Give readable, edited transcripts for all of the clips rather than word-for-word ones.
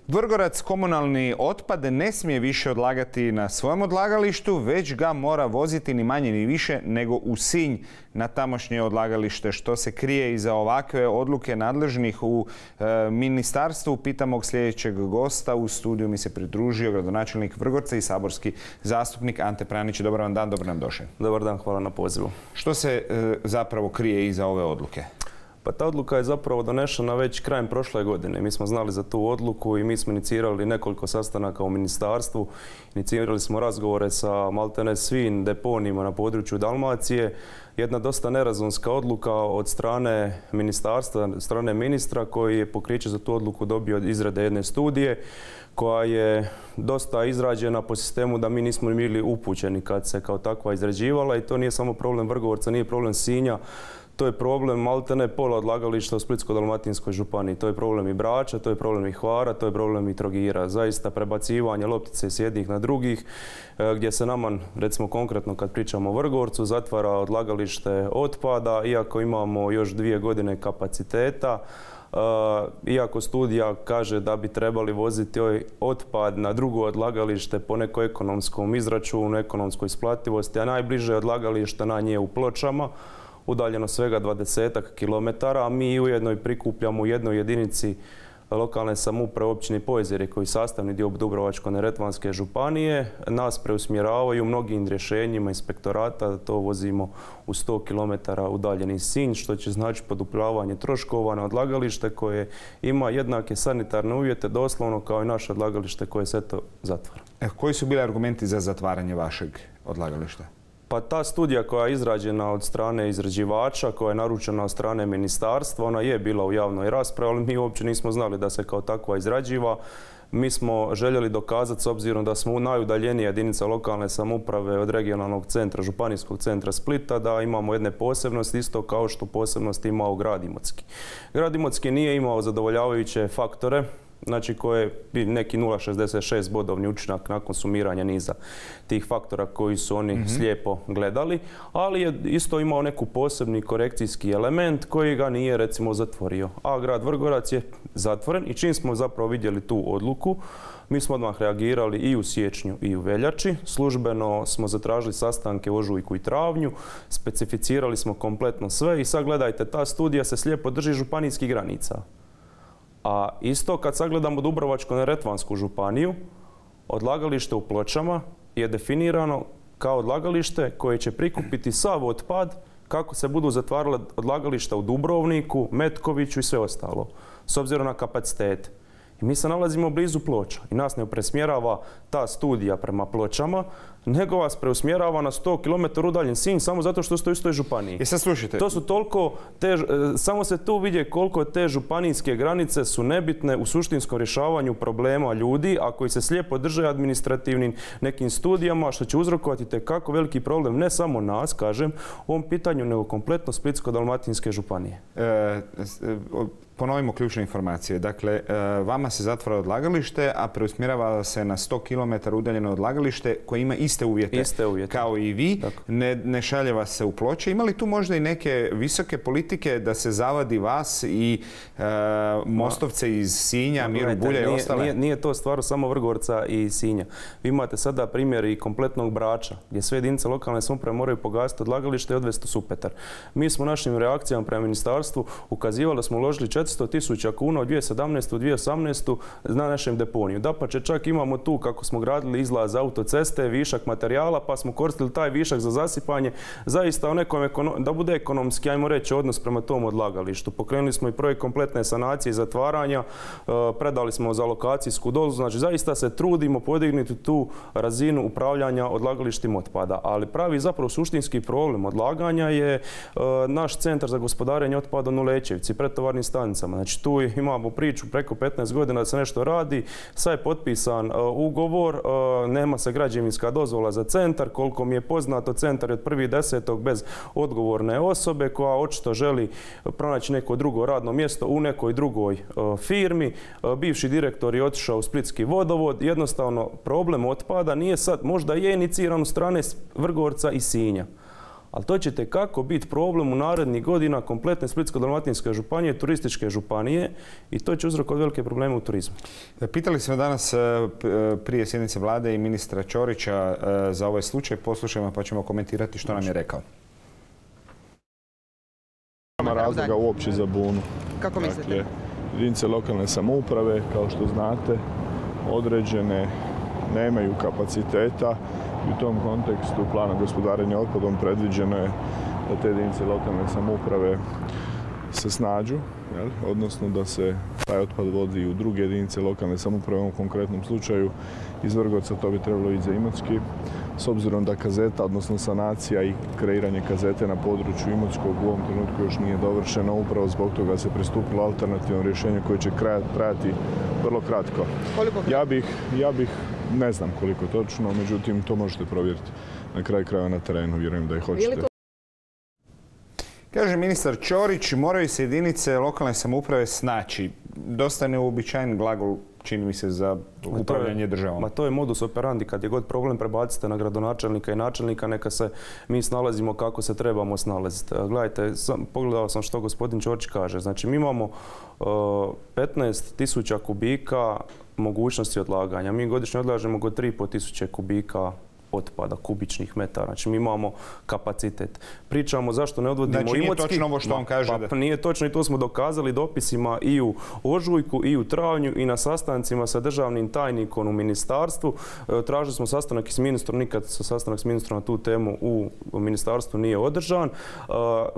Vrgorac komunalni otpad ne smije više odlagati na svojem odlagalištu, već ga mora voziti ni manje ni više nego u Sinj na tamošnje odlagalište. Što se krije iza ovakve odluke nadležnih u ministarstvu, pitamo sljedećeg gosta. U studiju mi se pridružio gradonačelnik Vrgorca i saborski zastupnik Ante Pranić. Dobar vam dan, dobro nam došli. Dobar dan, hvala na pozivu. Što se zapravo krije iza ove odluke? Pa ta odluka je zapravo donešena već krajem prošle godine. Mi smo znali za tu odluku i mi smo inicirali nekoliko sastanaka u ministarstvu. Inicirali smo razgovore sa maltene svim deponijima na području Dalmacije. Jedna dosta nerazumska odluka od strane ministarstva, od strane ministra koji je pokriće za tu odluku dobio od izrade jedne studije koja je dosta izrađena po sistemu da mi nismo bili upućeni kad se kao takva izrađivala i to nije samo problem Vrgorca, nije problem Sinja. To je problem maltene pola odlagališta u Splitsko-dalmatinskoj županiji. To je problem i Brača, to je problem i Hvara, to je problem i Trogira. Zaista prebacivanje loptice s jednih na drugih, gdje se nama, recimo konkretno kad pričamo o Vrgorcu, zatvara odlagalište otpada, iako imamo još 2 godine kapaciteta. Iako studija kaže da bi trebali voziti ovaj otpad na drugo odlagalište po nekoj ekonomskom izračunu, ekonomskoj isplativosti, a najbliže odlagalište na nje u Pločama, udaljeno svega 20 kilometara, a mi ujedno i prikupljamo u jednoj jedinici lokalne samouprave općini Pojezerje, koji je sastavni dio Dubrovačko-neretvanske županije. Nas preusmjeravaju mnogim rješenjima inspektorata da to vozimo u 100 km udaljeni Sinj, što će znači poduplavanje troškova na odlagalište koje ima jednake sanitarne uvjete doslovno kao i naše odlagalište koje se to zatvara. Koji su bili argumenti za zatvaranje vašeg odlagališta? Pa ta studija koja je izrađena od strane izrađivača, koja je naručena od strane ministarstva, ona je bila u javnoj raspravi, ali mi uopće nismo znali da se kao takva izrađiva. Mi smo željeli dokazati, s obzirom da smo u najudaljenije jedinica lokalne samouprave od regionalnog centra, županijskog centra Splita, da imamo jedne posebnosti, isto kao što posebnost imao grad Imotski. Grad Imotski nije imao zadovoljavajuće faktore, znači koje bi neki 0,66 bodovni učinak nakon sumiranja niza tih faktora koji su oni slijepo gledali, ali je isto imao neku posebni korekcijski element koji ga nije recimo zatvorio. A grad Vrgorac je zatvoren i čim smo zapravo vidjeli tu odluku, mi smo odmah reagirali i u siječnju i u veljači. Službeno smo zatražili sastanke u ožujku i travnju, specificirali smo kompletno sve i sad gledajte, ta studija se slijepo drži županijskih granica. A isto kad sagledamo Dubrovačko-neretvansku županiju, odlagalište u Pločama je definirano kao odlagalište koje će prikupiti sav otpad kako se budu zatvarala odlagališta u Dubrovniku, Metkoviću i sve ostalo, s obzirom na kapacitete. I mi se nalazimo blizu Ploča i nas ne presmjerava ta studija prema Pločama, nego vas preusmjerava na 100 km udaljen Sinj samo zato što ste u istoj županiji. I sad slušajte. To su toliko, samo se tu vidje koliko te županijske granice su nebitne u suštinskom rješavanju problema ljudi, a koji se slijepo drže administrativnim nekim studijama, što će uzrokovati tekako veliki problem, ne samo nas, kažem, u ovom pitanju, nego kompletno Splitsko-dalmatinske županije. Ponovimo ključne informacije. Dakle, vama se zatvara odlagalište, a preusmjerava se na 100 km udaljeno odlagalište koje ima iste uvjete kao i vi. Ne šalje vas se u Ploče. Ima li tu možda i neke visoke politike da se zavadi vas i Mostovce iz Sinja, Miru Bulja i ostale? Nije to stvar samo Vrgorca i Sinja. Vi imate sada primjer i kompletnog Brača, gdje sve jedinice lokalne samouprave moraju pogasiti odlagalište i odvesti u Supetar. Mi smo našim reakcijama prema ministarstvu ukazivali da smo uložili 400.000 kuna od 2017. u 2018. na našem deponiju. Dapače, čak imamo tu, kako smo gradili izlaz autoceste, višak materijala, pa smo koristili taj višak za zasipanje, zaista da bude ekonomski, ajmo reći, odnos prema tom odlagalištu. Pokrenuli smo i projekt kompletne sanacije i zatvaranja, predali smo za lokacijsku dozvolu, znači zaista se trudimo podignuti tu razinu upravljanja odlagalištima otpada. Ali pravi zapravo suštinski problem odlaganja je naš centar za gospodarenje otpadom u Lećevici, pretovarnim stanicama. Znači tu imamo priču preko 15 godina da se nešto radi, sad je potpisan ugovor, nema se građevinska dozvola za centar, koliko mi je poznato centar je od 1.10. bez odgovorne osobe koja očito želi pronaći neko drugo radno mjesto u nekoj drugoj firmi. Bivši direktor je otišao u Splitski vodovod, jednostavno problem otpada nije sad, možda je iniciran u strane Vrgorca i Sinja. Ali to će tekako biti problem u narednih godina kompletne Splitsko-dalmatinske županije, turističke županije i to će uzrokovati velike probleme u turizmu. Pitali smo danas prije sjednice vlade i ministra Ćorića za ovaj slučaj. Poslušajmo pa ćemo komentirati što nam je rekao. Nema razloga uopće za bunu. Kako mislite? Dakle, jedinice lokalne samouprave, kao što znate, određene nemaju kapaciteta i u tom kontekstu plana gospodarenja otpadom predviđeno je da te jedinice lokalne samouprave se snađu, odnosno da se taj otpad vodi u druge jedinice lokalne samouprave, u ovom konkretnom slučaju iz Vrgorca, to bi trebalo ići za Imotski. S obzirom da kazeta, odnosno sanacija i kreiranje kazete na području Imotskog u ovom trenutku još nije dovršeno, upravo zbog toga se pristupilo alternativnom rješenju koje će trajati vrlo kratko. Ja bih, ne znam koliko točno, međutim to možete provjeriti na kraju krajeva na terenu, vjerujem da ih hoćete. Kaže ministar Ćorić, moraju se jedinice lokalne samouprave snaći. Dosta neuobičajen glagol, čini mi se, za upravljanje državom. Ma to je modus operandi. Kad je god problem, prebacite na gradonačelnika i načelnika, neka se mi snalazimo kako se trebamo snalaziti. Gledajte, pogledao sam što gospodin Ćorić kaže. Znači, mi imamo 15.000 kubika mogućnosti odlaganja. Mi godišnje odlažemo oko 3.500 kubika otpada, kubičnih metara. Znači mi imamo kapacitet. Pričamo zašto ne odvodimo Imotski. Znači nije točno ovo što on kaže. Pa nije točno i to smo dokazali dopisima i u ožujku i u travnju i na sastancima sa državnim tajnikom u ministarstvu. Tražili smo sastanak s ministrom, nikad sastanak s ministrom na tu temu u ministarstvu nije održan.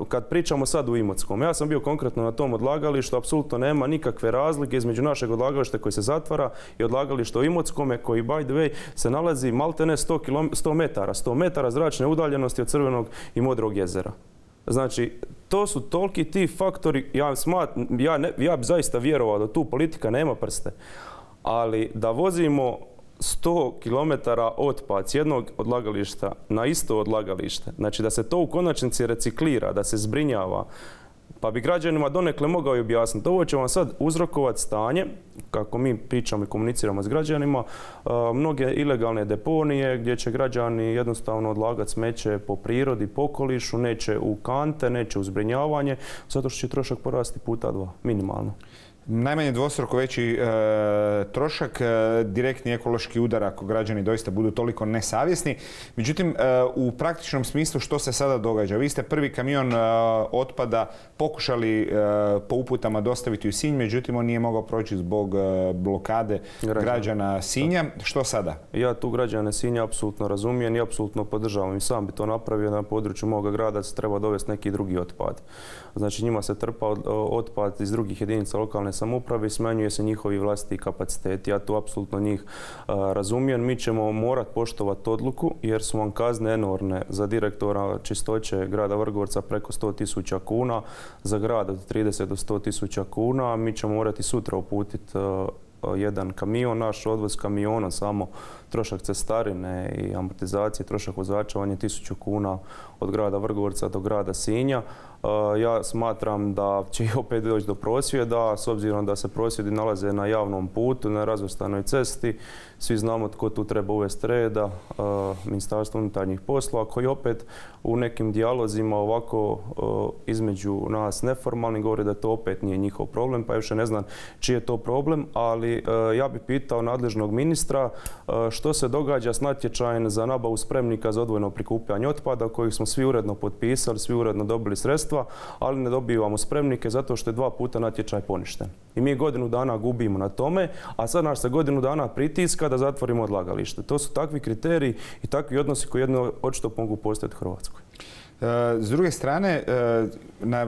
Kad pričamo sad u Imotskom, ja sam bio konkretno na tom odlagalištu, apsolutno nema nikakve razlike između našeg odlagališta koji se zatvara i odlagališta u Imotskome koji, by the way, se nalazi maltene 100 metara zračne udaljenosti od Crvenog i Modrog jezera. Znači, to su toliki ti faktori, ja bi zaista vjerovao da tu politika nema prste, ali da vozimo 100 km otpad s jednog odlagališta na isto odlagalište, znači da se to u konačnici reciklira, da se zbrinjava, pa bi građanima donekle mogao i objasniti. Ovo će vam sad uzrokovati stanje, kako mi pričamo i komuniciramo s građanima, mnoge ilegalne deponije gdje će građani jednostavno odlagati smeće po prirodi, po okolišu, neće u kante, neće u zbrinjavanje, zato što će trošak porasti puta 2, minimalno. Najmanje dvostruko veći trošak, direktni ekološki udar ako građani doista budu toliko nesavjesni. Međutim, u praktičnom smislu što se sada događa? Vi ste prvi kamion otpada pokušali po uputama dostaviti u Sinj, međutim on nije mogao proći zbog blokade građana Sinja. Što sada? Ja tu građane Sinja apsolutno razumijem i apsolutno podržavam. I sam bi to napravio na području moga grada, se treba dovesti neki drugi otpad. Znači njima se trpa otpad iz drugih jedinica lokalne samouprave i smanjuje se njihovi vlastiti kapaciteti. Ja tu apsolutno njih razumijem. Mi ćemo morati poštovati odluku jer su vam kazne enormne za direktora čistoće grada Vrgorca preko 100.000 kuna, za grad od 30 do 100.000 kuna. Mi ćemo morati sutra uputiti jedan kamion, naš odvoz kamiona, samo trošak cestarine i amortizacije, trošak vozača, on je 1.000 kuna od grada Vrgorca do grada Sinja. Ja smatram da će i opet doći do prosvjeda, s obzirom da se prosvjedi nalaze na javnom putu, na razvrstanoj cesti. Svi znamo tko tu treba uvesti reda, Ministarstvo unutarnjih poslova, koji opet u nekim dijalozima ovako između nas neformalni govori da to opet nije njihov problem, pa još ne znam čiji je to problem, ali ja bih pitao nadležnog ministra što se događa s natječajem za nabavu spremnika za odvojeno prikupljanje otpada kojih smo svi uredno potpisali, svi uredno dobili sredstva, ali ne dobivamo spremnike zato što je 2 puta natječaj poništen. I mi godinu dana gubimo na tome, a sad nas se godinu dana pritiska da zatvorimo odlagalište. To su takvi kriteriji i takvi odnosi koji jedno očito mogu postojati u Hrvatskoj. S druge strane,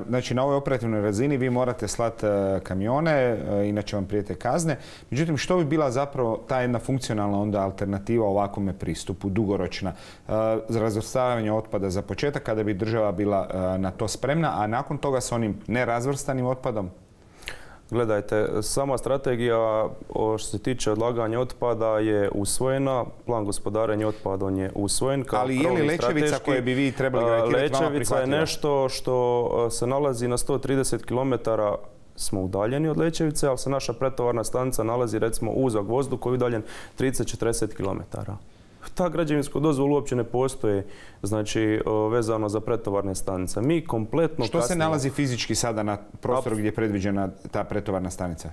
znači na ovoj operativnoj razini vi morate slati kamione, inače vam prijete kazne. Međutim, što bi bila zapravo ta jedna funkcionalna onda alternativa ovakvome pristupu, dugoročna, za razvrstavanje otpada za početak, kada bi država bila na to spremna, a nakon toga s onim nerazvrstanim otpadom? Gledajte, sama strategija što se tiče odlaganja otpada je usvojena, plan gospodarenja otpadom je usvojen. Ali je li Lećevica koje bi vi trebali graditi vama prihvatljiva? Lećevica je nešto što se nalazi na 130 km, smo udaljeni od Lećevice, ali se naša pretovarna stanica nalazi recimo u Zagvozdu koji je udaljen 30-40 km. Ta građevinska dozvola uopće ne postoji, znači vezano za pretovarne stanice. Mi kompletno Što se nalazi fizički sada na prostoru gdje je predviđena ta pretovarna stanica?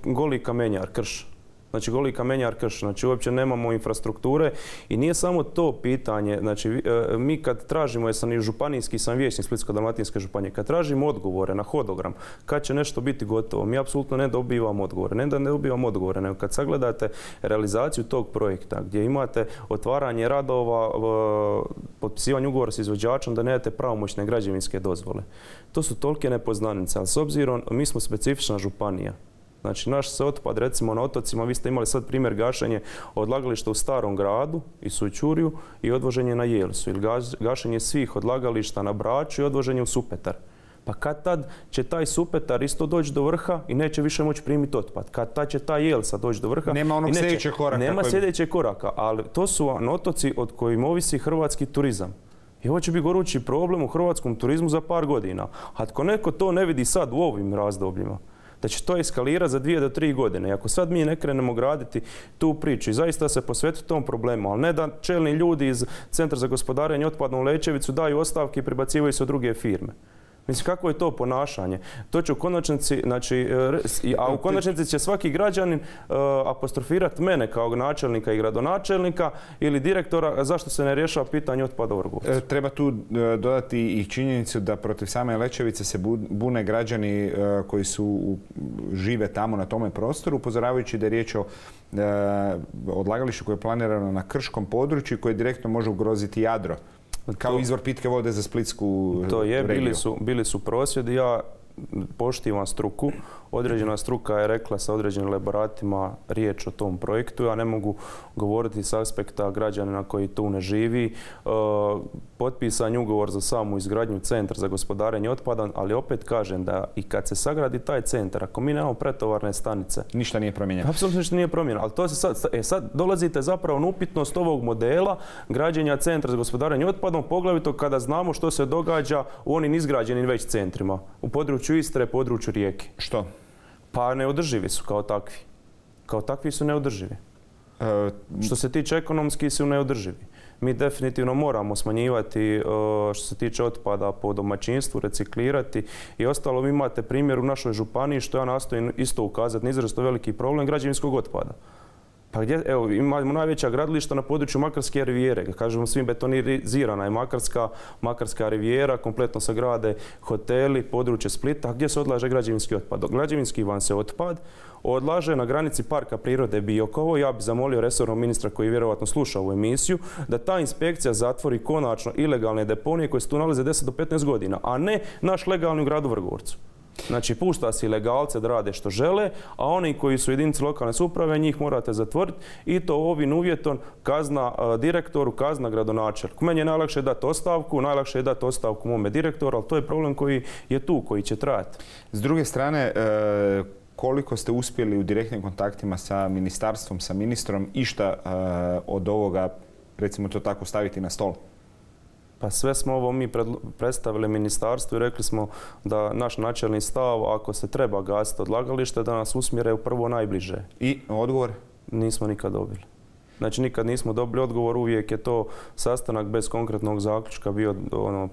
Goli kamenjar, krš. Znači, goli kamenjar, krš. Znači, uopće nemamo infrastrukture i nije samo to pitanje. Znači, mi kad tražimo, jer sam i županijski, sam vijećnik Splitsko-dalmatinske županije, kad tražimo odgovore na hodogram, kad će nešto biti gotovo, mi apsolutno ne dobivamo odgovore. Ne da ne dobivamo odgovore, nego kad sagledate realizaciju tog projekta, gdje imate otvaranje radova, potpisivanje ugovora s izvođačem, da nemate pravomoćne građevinske dozvole. To su tolike nepoznanice, ali s obzirom, mi smo specifična županija. Znači, naš se otpad, recimo na otocima, vi ste imali sad primjer gašenje odlagališta u Starom gradu i Sućurju i odvoženje na Jelsu, ili gašenje svih odlagališta na Braču i odvoženje u Supetar. Pa kad tad će taj Supetar isto doći do vrha i neće više moći primiti otpad. Kad tad će ta Jelsa doći do vrha. Nema onog sljedećeg koraka. Nema sljedećeg koraka, ali to su otoci od kojim ovisi hrvatski turizam. I ovo će biti gorući problem u hrvatskom turizmu za par godina. A ako neko to ne vidi sad u ovim razdobljima, da će to eskalirati za 2 do 3 godine. I ako sad mi ne krenemo graditi tu priču i zaista se posvetiti tom problemu, ali ne da čelni ljudi iz Centra za gospodarenje otpadom u Lećevicu daju ostavke i prebacivaju se u druge firme. Mislim, kako je to ponašanje? To će u konačnici, znači, a u konačnici će svaki građanin apostrofirati mene kao načelnika i gradonačelnika ili direktora zašto se ne rješava pitanje otpada u Vrgorcu. Treba tu dodati i činjenicu da protiv same Lećevice se bune građani koji žive tamo na tome prostoru, upozoravajući da je riječ o odlagalištu koje je planirano na krškom području koje direktno može ugroziti Jadro. Kao izvor pitke vode za Splitsku regiju. To je, bili su prosvjedi. Ja poštivam struku. Određena struka je rekla sa određenim elaboratima riječ o tom projektu. Ja ne mogu govoriti s aspekta građanina koji tu ne živi. Potpisan je ugovor za samu izgradnju centra za gospodarenje otpadom, ali opet kažem da i kad se sagradi taj centar, ako mi nemamo pretovarne stanice... Ništa nije promijenjeno. Apsolutno ništa nije promijenjeno. Ali to se sad dolazite zapravo na upitnost ovog modela građenja centra za gospodarenje otpadom, poglavito kada znamo što se događa u onim izgrađenim već centrima. U području Istre, području Rijeke. Što? Pa neodrživi su kao takvi. Kao takvi su neodrživi. Što se tiče ekonomski su neodrživi. Mi definitivno moramo smanjivati što se tiče otpada po domaćinstvu, reciklirati i ostalo. Vi imate primjer u našoj županiji što ja nastojim isto ukazati na izrazito veliki problem građevinskog otpada. Pa gdje, evo, imamo najveća gradilišta na području Makarske rivijere. Kažemo svim betonizirana je Makarska rivijera, kompletno se grade hoteli, područje Splita. A gdje se odlaže građevinski otpad? Građevinski van se otpad odlaže na granici Parka prirode Biokovo. Ja bih zamolio resornog ministra koji vjerojatno sluša ovu emisiju da ta inspekcija zatvori konačno ilegalne deponije koje se tu nalaze 10 do 15 godina, a ne naš legalni u gradu Vrgorcu. Znači, pušta se ilegalce da rade što žele, a oni koji su jedinice lokalne samouprave, njih morate zatvoriti i to ovim uvjetom kazna direktoru, kazna gradonačelniku. Meni je najlakše dati ostavku mome direktoru, ali to je problem koji je tu, koji će trajati. S druge strane, koliko ste uspjeli u direktnim kontaktima sa ministarstvom, sa ministrom, išta od ovoga, recimo to tako, staviti na stol? Pa sve smo ovo mi predstavili ministarstvu i rekli smo da naš načelni stav, ako se treba gasiti odlagalište, da nas usmjere u prvo najbliže. I odgovor? Nismo nikad dobili. Znači, nikad nismo dobili odgovor, uvijek je to sastanak bez konkretnog zaključka bio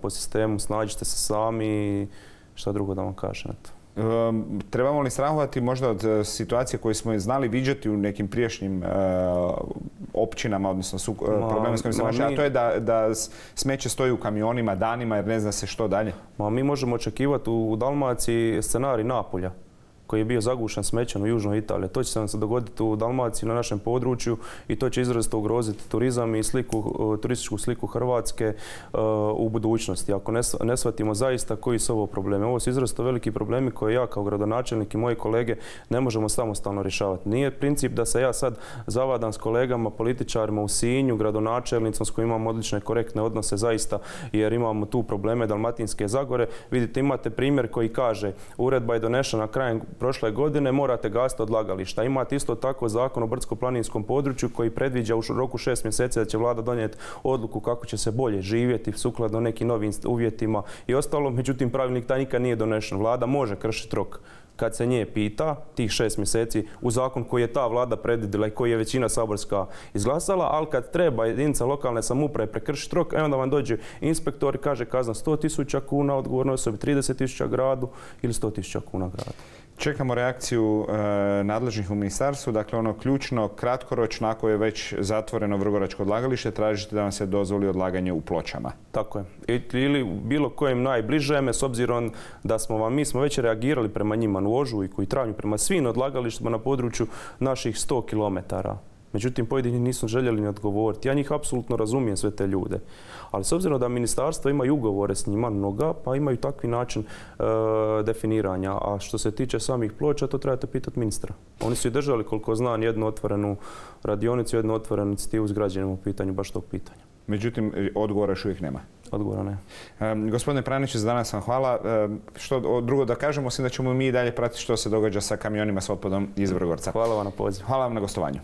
po sistemu, snađite se sami i šta drugo da vam kažem. Trebamo li strahovati možda od situacije koje smo znali viđati u nekim prijašnjim općinama, odnosno problema s kojim se našli, a to je da smeće stoji u kamionima danima jer ne zna se što dalje? Mi možemo očekivati u Dalmaciji scenarij Napolja, koji je bio zagušen smećem u južnoj Italiji. To će se nam se dogoditi u Dalmaciji, na našem području, i to će izrazito ugroziti turizam i turističku sliku Hrvatske u budućnosti. Ako ne shvatimo zaista koji su ovo problemi. Ovo su izrazito veliki problemi koje ja kao gradonačelnik i moji kolege ne možemo samostalno rješavati. Nije princip da se ja sad zavadam s kolegama, političarima u Sinju, gradonačelnicom s kojim imamo odlične korektne odnose zaista, jer imamo tu probleme Dalmatinske Zagore. Vidite, imate primjer koji kaže uredba je donešena krajem prošle godine, morate gasiti odlagališta. Imate isto tako zakon o brdsko-planinskom području koji predviđa u roku 6 mjeseci da će vlada donijeti odluku kako će se bolje živjeti sukladno nekim novim uvjetima i ostalo. Međutim, pravilnik taj nikad nije donešen. Vlada može kršiti rok kad se nje pita, tih 6 mjeseci u zakon koji je ta vlada predvidjela i koji je većina saborska izglasala, ali kad treba jedinica lokalne samouprave prekršiti rok, onda vam dođe inspektor i kaže kazna 100.000 kuna odgovornoj osobi, 30.000 gradu ili 100.000 kuna gradu. Čekamo reakciju nadležnih u ministarstvu. Dakle, ono ključno, kratkoročno, ako je već zatvoreno vrgoračko odlagalište, tražite da vam se dozvoli odlaganje u Pločama. Tako je. Ili bilo kojem najbližeme, s obzirom da mi smo već reagirali prema njima u ožujku i travnju, prema svim odlagalištima na području naših 100 kilometara. Međutim, pojedini nisu željeli ni odgovoriti. Ja njih apsolutno razumijem, sve te ljude. Ali s obzirom da ministarstva imaju ugovore s njima mnoga, pa imaju takvi način definiranja. A što se tiče samih Ploča, to trebate pitati ministra. Oni su i držali, koliko znam, jednu otvorenu radionicu, jednu otvorenu inicijativu s građanima u pitanju baš tog pitanja. Međutim, odgovora još uvijek nema. Odgovora ne. Gospodine Pranić, za danas vam hvala. Što drugo da kažemo, osim da ćemo mi i dalje pratiti što se događa sa kamionima s otpadom iz Vrgorca. Hvala vam na pozivu. Hvala vam na gostovanju.